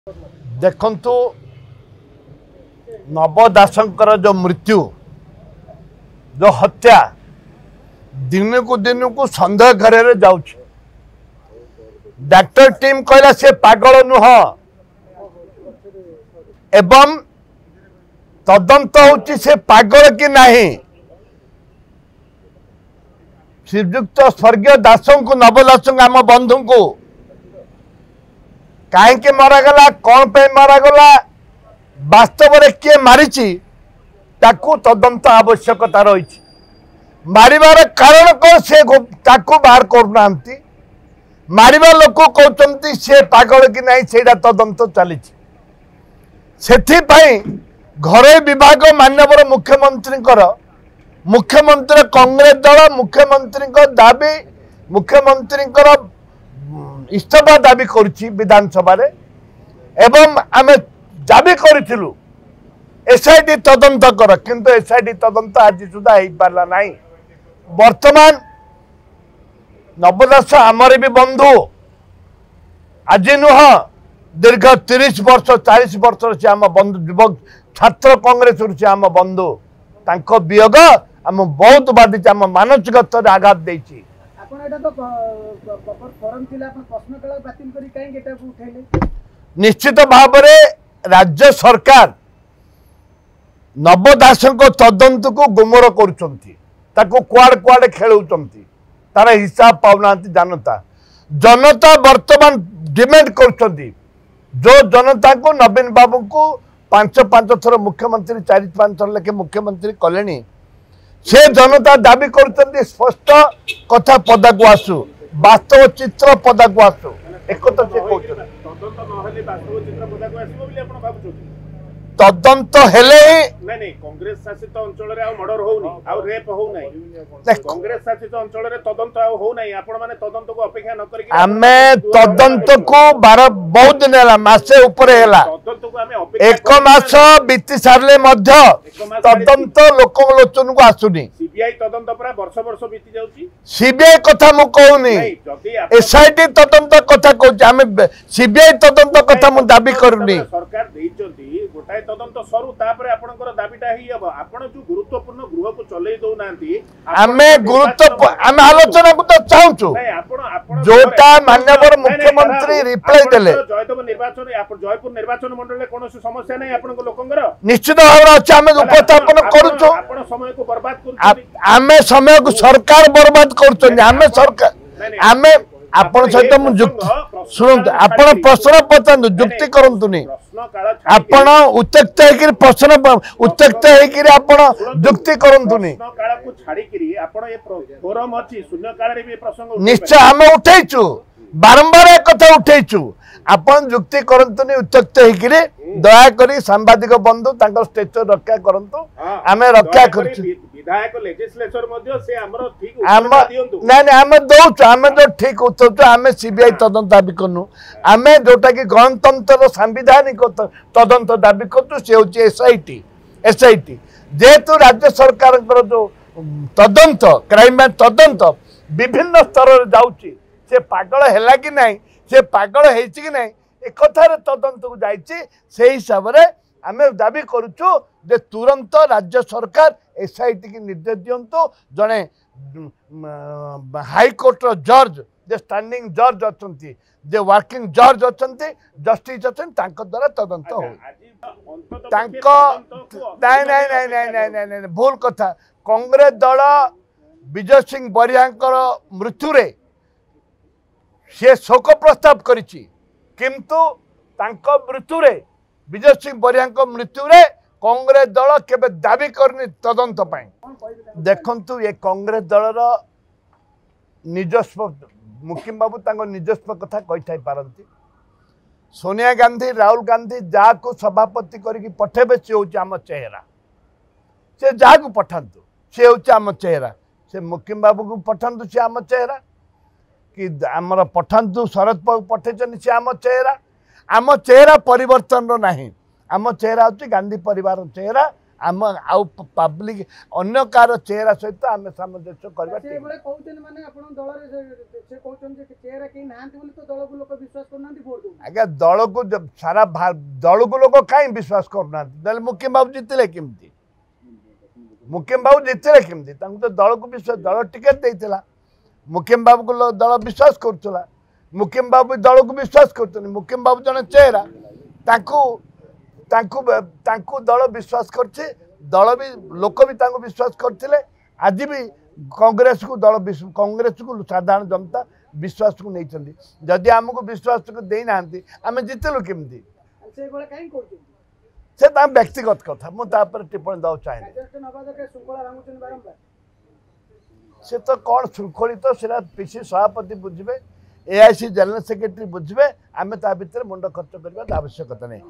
ଦେଖନ୍ତୁ, ନବ ଦାସଙ୍କର ଯେଉଁ ମୃତ୍ୟୁ, ଯେଉଁ ହତ୍ୟା ଦିନକୁ ଦିନକୁ ସନ୍ଦେହ ଘେରରେ ଯାଉଛି। ଡାକ୍ତର ଟିମ୍ କହିଲା ସେ ପାଗଳ ନୁହଁ ଏବଂ ତଦନ୍ତ ହେଉଛି ସେ ପାଗଳ କି ନାହିଁ। ଶ୍ରୀଯୁକ୍ତ ସ୍ୱର୍ଗୀୟ ଦାସଙ୍କୁ, ନବ ଦାସଙ୍କୁ, ଆମ ବନ୍ଧୁଙ୍କୁ କାହିଁକି ମରାଗଲା, କ'ଣ ପାଇଁ ମରାଗଲା, ବାସ୍ତବରେ କିଏ ମାରିଛି ତାକୁ ତଦନ୍ତ ଆବଶ୍ୟକତା ରହିଛି। ମାରିବାର କାରଣ କ'ଣ ସେ ତାକୁ ବାହାର କରୁନାହାନ୍ତି। ମାରିବା ଲୋକ କହୁଛନ୍ତି ସେ ପାଗଳ କି ନାହିଁ, ସେଇଟା ତଦନ୍ତ ଚାଲିଛି। ସେଥିପାଇଁ ଘରୋଇ ବିଭାଗ ମାନ୍ୟବର ମୁଖ୍ୟମନ୍ତ୍ରୀଙ୍କର, ମୁଖ୍ୟମନ୍ତ୍ରୀ କଂଗ୍ରେସ ଦଳ ମୁଖ୍ୟମନ୍ତ୍ରୀଙ୍କ ଦାବି, ମୁଖ୍ୟମନ୍ତ୍ରୀଙ୍କର ଇସ୍ତଫା ଦାବି କରୁଛି ବିଧାନସଭାରେ ଏବଂ ଆମେ ଦାବି କରିଥିଲୁ ଏସ୍ଆଇଟି ତଦନ୍ତ କର, କିନ୍ତୁ ଏସ୍ଆଇଟି ତଦନ୍ତ ଆଜି ସୁଦ୍ଧା ହେଇପାରିଲା ନାହିଁ। ବର୍ତ୍ତମାନ ନବ ଦାସ ଆମର ବି ବନ୍ଧୁ, ଆଜି ନୁହଁ, ଦୀର୍ଘ 30 ବର୍ଷ 40 ବର୍ଷର ସେ ଆମ ବନ୍ଧୁ, ଯୁବକ ଛାତ୍ର କଂଗ୍ରେସରୁ ସେ ଆମ ବନ୍ଧୁ। ତାଙ୍କ ବିୟୋଗ ଆମ ବହୁତ ବାଧିଛି, ଆମ ମାନସିକ ସ୍ତରରେ ଆଘାତ ଦେଇଛି। ନିଶ୍ଚିତ ଭାବରେ ରାଜ୍ୟ ସରକାର ନବ ଦାସଙ୍କ ତଦନ୍ତକୁ ଗୁମର କରୁଛନ୍ତି, ତାକୁ କୁଆଡ଼େ କୁଆଡ଼େ ଖେଳଉଛନ୍ତି, ତାର ହିସାବ ପାଉନାହାନ୍ତି ଜନତା। ଜନତା ବର୍ତ୍ତମାନ ଡିମାଣ୍ଡ କରୁଛନ୍ତି, ଯେଉଁ ଜନତାଙ୍କୁ ନବୀନ ବାବୁଙ୍କୁ 5 5 ଥର ମୁଖ୍ୟମନ୍ତ୍ରୀ, 4 5 ଥର ଲେଖେ ମୁଖ୍ୟମନ୍ତ୍ରୀ କଲେଣି, ସେ ଜନତା ଦାବି କରୁଛନ୍ତି ସ୍ପଷ୍ଟ କଥା ପଦାକୁ ଆସୁ, ବାସ୍ତବ ଚିତ୍ର ପଦାକୁ ଆସୁ। ଏକଥା ସେ କହୁଛନ୍ତି। ତଦନ୍ତ ହେଲେ ହିଁ କଂଗ୍ରେସ ଶାସିତ ଅଞ୍ଚଳରେ ଆଉ ମର୍ଡର ହଉନି, ଆଉ ରେପ ହଉନାହିଁ। କଂଗ୍ରେସ ଶାସିତ ଅଞ୍ଚଳରେ ତଦନ୍ତ ଆଉ ହଉନାହିଁ। ଆପଣ ମାନେ ତଦନ୍ତକୁ ଅପେକ୍ଷା ନ କରିକି ଆମେ ତଦନ୍ତକୁ ବାର ବହୁତ ଦିନ ହେଲା, ମାସେ ଉପରେ ହେଲା, ଏକ ମାସ ବିତି ସାରିଲେ ମଧ୍ୟ ତଦନ୍ତ ଲୋକଙ୍କ ଲୋଚନକୁ ଆସୁନି। ସିବିଆଇ ତଦନ୍ତ ପୁରା ବର୍ଷ ବର୍ଷ ବିତି ଯାଉଛି। ସିବିଆଇ କଥା ମୁଁ କହୁନି, ଏସ୍ଆଇଟି ତଦନ୍ତ କଥା କହୁଛି। ଆମେ ସିବିଆଇ ତଦନ୍ତ କଥା ମୁଁ ଦାବି କରୁନି। ସରକାର ଦେଇଛନ୍ତି ଗୋଟାଏ ତଦନ୍ତ ସରୁ, ତାପରେ ଆପଣଙ୍କର ଦାବିଟା ହେଇ ହବ। ଆପଣ ଯୋଉ ଗୁରୁତ୍ୱପୂର୍ଣ୍ଣ ଗୃହକୁ ଚଲେଇ ଦଉନାହାନ୍ତି। ଆମେ ଗୁରୁତ୍ୱ ଆମେ ଆଲୋଚନାକୁ ତ ଚାହୁଁଛୁ, ଯୋଉଟା ମାନ୍ୟବର ମୁଖ୍ୟମନ୍ତ୍ରୀ ରିପ୍ଲାଏ ଦେଲେ। ଜୟଦେବ ନିର୍ବାଚନ, ଜୟପୁର ନିର୍ବାଚନ ମଣ୍ଡଳୀରେ କୌଣସି ସମସ୍ୟା ନାହିଁ ଆପଣଙ୍କ ଲୋକଙ୍କର? ନିଶ୍ଚିତ ଭାବରେ ଅଛି, ଆମେ ଉପସ୍ଥାପନ କରୁଛୁ। ଆପଣ ସମୟକୁ ବର୍ବାଦ କରୁଛନ୍ତି। ଆମେ ସମୟକୁ ସରକାର ବର୍ବାଦ କରୁଛନ୍ତି। ଆମେ ସରକାର, ଆମେ ଆପଣ ସହିତ ମୁଁ ଯୁକ୍ତି, ଶୁଣନ୍ତୁ, ଆପଣ ପ୍ରଶ୍ନ ପଚାରନ୍ତୁ, ଯୁକ୍ତି କରନ୍ତୁନି। ଆପଣ ଉତ୍ତ୍ୟକ୍ତ ହେଇକିରି ପ୍ରଶ୍ନ, ଉତ୍ତ୍ୟକ୍ତ ହେଇକିରି ଆପଣ ଯୁକ୍ତି କରନ୍ତୁନି। ନିଶ୍ଚୟ ଆମେ ଉଠେଇଛୁ, ବାରମ୍ବାର କଥା ଉଠେଇଛୁ। ଆପଣ ଯୁକ୍ତି କରନ୍ତୁନି ଉତ୍ତ୍ୟକ୍ତ ହେଇକିରି, ଦୟାକରି ସାମ୍ବାଦିକ ବନ୍ଧୁ ତାଙ୍କ ଷ୍ଟେଚର ରକ୍ଷା କରନ୍ତୁ। ଆମେ ରକ୍ଷା କରୁଛୁ। ନାଇଁ ନାଇଁ, ଆମେ ଦଉଛୁ, ଆମେ ଯୋଉ ଠିକ ଉତ୍ତର। ଆମେ ସିବିଆଇ ତଦନ୍ତ ଦାବି କରୁନୁ, ଆମେ ଯୋଉଟା କି ଗଣତନ୍ତ୍ରର ସାମ୍ବିଧାନିକ ତଦନ୍ତ ଦାବି କରୁଛୁ, ସେ ହେଉଛି ଏସ୍ଆଇଟି। ଏସ୍ଆଇଟି ଯେହେତୁ ରାଜ୍ୟ ସରକାରଙ୍କର ଯୋଉ ତଦନ୍ତ, କ୍ରାଇମବ୍ରାଞ୍ଚ ତଦନ୍ତ ବିଭିନ୍ନ ସ୍ତରରେ ଯାଉଛି, ସେ ପାଗଳ ହେଲା କି ନାହିଁ, ସେ ପାଗଳ ହେଇଛି କି ନାହିଁ, ଏକଥାରେ ତଦନ୍ତକୁ ଯାଇଛି। ସେଇ ହିସାବରେ ଆମେ ଦାବି କରୁଛୁ ଯେ ତୁରନ୍ତ ରାଜ୍ୟ ସରକାର ଏସ୍ଆଇଟି କି ନିର୍ଦ୍ଦେଶ ଦିଅନ୍ତୁ। ଜଣେ ହାଇକୋର୍ଟର ଜଜ୍, ଯେ ଷ୍ଟାଣ୍ଡିଂ ଜଜ୍ ଅଛନ୍ତି, ଯେ ୱାର୍କିଂ ଜଜ୍ ଅଛନ୍ତି, ଜଷ୍ଟିସ୍ ଅଛନ୍ତି, ତାଙ୍କ ଦ୍ୱାରା ତଦନ୍ତ ହଉ। ତାଙ୍କ ନାଇଁ ନାଇଁ ନାଇଁ ନାଇଁ ନାଇଁ ନାଇଁ ନାଇଁ, ଭୁଲ କଥା। କଂଗ୍ରେସ ଦଳ ବିଜୟ ସିଂ ବରିହାଙ୍କର ମୃତ୍ୟୁରେ ସେ ଶୋକ ପ୍ରସ୍ତାବ କରିଛି, କିନ୍ତୁ ତାଙ୍କ ମୃତ୍ୟୁରେ, ବିଜୟ ସିଂ ବରିହାଙ୍କ ମୃତ୍ୟୁରେ କଂଗ୍ରେସ ଦଳ କେବେ ଦାବି କରିନି ତଦନ୍ତ ପାଇଁ। ଦେଖନ୍ତୁ, ଏ କଂଗ୍ରେସ ଦଳର ନିଜସ୍ୱ, ମୁକିମ ବାବୁ ତାଙ୍କ ନିଜସ୍ୱ କଥା କହିଥାଇ ପାରନ୍ତି। ସୋନିଆ ଗାନ୍ଧୀ, ରାହୁଲ ଗାନ୍ଧୀ ଯାହାକୁ ସଭାପତି କରିକି ପଠେଇବେ ସେ ହେଉଛି ଆମ ଚେହେରା। ସେ ଯାହାକୁ ପଠାନ୍ତୁ ସେ ହେଉଛି ଆମ ଚେହେରା। ସେ ମୁକିମ ବାବୁକୁ ପଠାନ୍ତୁ, ସେ ଆମ ଚେହେରା କି ଆମର ପଠାନ୍ତୁ, ଶରଦ ବାବୁ ପଠେଇଛନ୍ତି, ସେ ଆମ ଚେହେରା। ଆମ ଚେହେରା ପରିବର୍ତ୍ତନର ନାହିଁ। ଆମ ଚେହେରା ହେଉଛି ଗାନ୍ଧୀ ପରିବାର ଚେହେରା, ଆମ ଆଉ ପବ୍ଲିକ ଅନ୍ୟ କାହାର ଚେହେରା ସହିତ ଆମେ ସାମଞ୍ଜସ୍ୟ କରିବା। ଆଜ୍ଞା, ଦଳକୁ ସାରା ଦଳକୁ ଲୋକ କାହିଁ ବିଶ୍ୱାସ କରୁନାହାନ୍ତି? ତାହେଲେ ମୁକିମ ବାବୁ ଜିତିଲେ କେମିତି? ମୁକିମ ବାବୁ ଜିତିଲେ କେମିତି? ତାଙ୍କୁ ତ ଦଳକୁ ବିଶ୍ୱାସ, ଦଳ ଟିକେଟ୍ ଦେଇଥିଲା, ମୁକିମ ବାବୁକୁ ଦଳ ବିଶ୍ୱାସ କରୁଥିଲା, ମୁକିମ ବାବୁ ଦଳକୁ ବିଶ୍ୱାସ କରୁଛନ୍ତି। ମୁକିମ ବାବୁ ଜଣେ ଚେହେରା, ତାଙ୍କୁ ତାଙ୍କୁ ତାଙ୍କୁ ଦଳ ବିଶ୍ୱାସ କରିଛି, ଦଳ ବି ଲୋକ ବି ତାଙ୍କୁ ବିଶ୍ୱାସ କରିଥିଲେ। ଆଜି ବି କଂଗ୍ରେସକୁ ଦଳ, କଂଗ୍ରେସକୁ ସାଧାରଣ ଜନତା ବିଶ୍ୱାସକୁ ନେଇଛନ୍ତି। ଯଦି ଆମକୁ ବିଶ୍ୱାସକୁ ଦେଇନାହାନ୍ତି, ଆମେ ଜିତିଲୁ କେମିତି? ସେ ତାଙ୍କ ବ୍ୟକ୍ତିଗତ କଥା, ମୁଁ ତାପରେ ଟିପ୍ପଣୀ ଦେବାକୁ ଚାହେଁନି। ସେ ତ କ'ଣ ଶୃଙ୍ଖଳିତ, ସେଟା ପିସି ସଭାପତି ବୁଝିବେ, ଏଆଇସି ଜେନେରାଲ ସେକ୍ରେଟାରୀ ବୁଝିବେ। ଆମେ ତା ଭିତରେ ମୁଣ୍ଡ ଖର୍ଚ୍ଚ କରିବା ଆବଶ୍ୟକତା ନାହିଁ।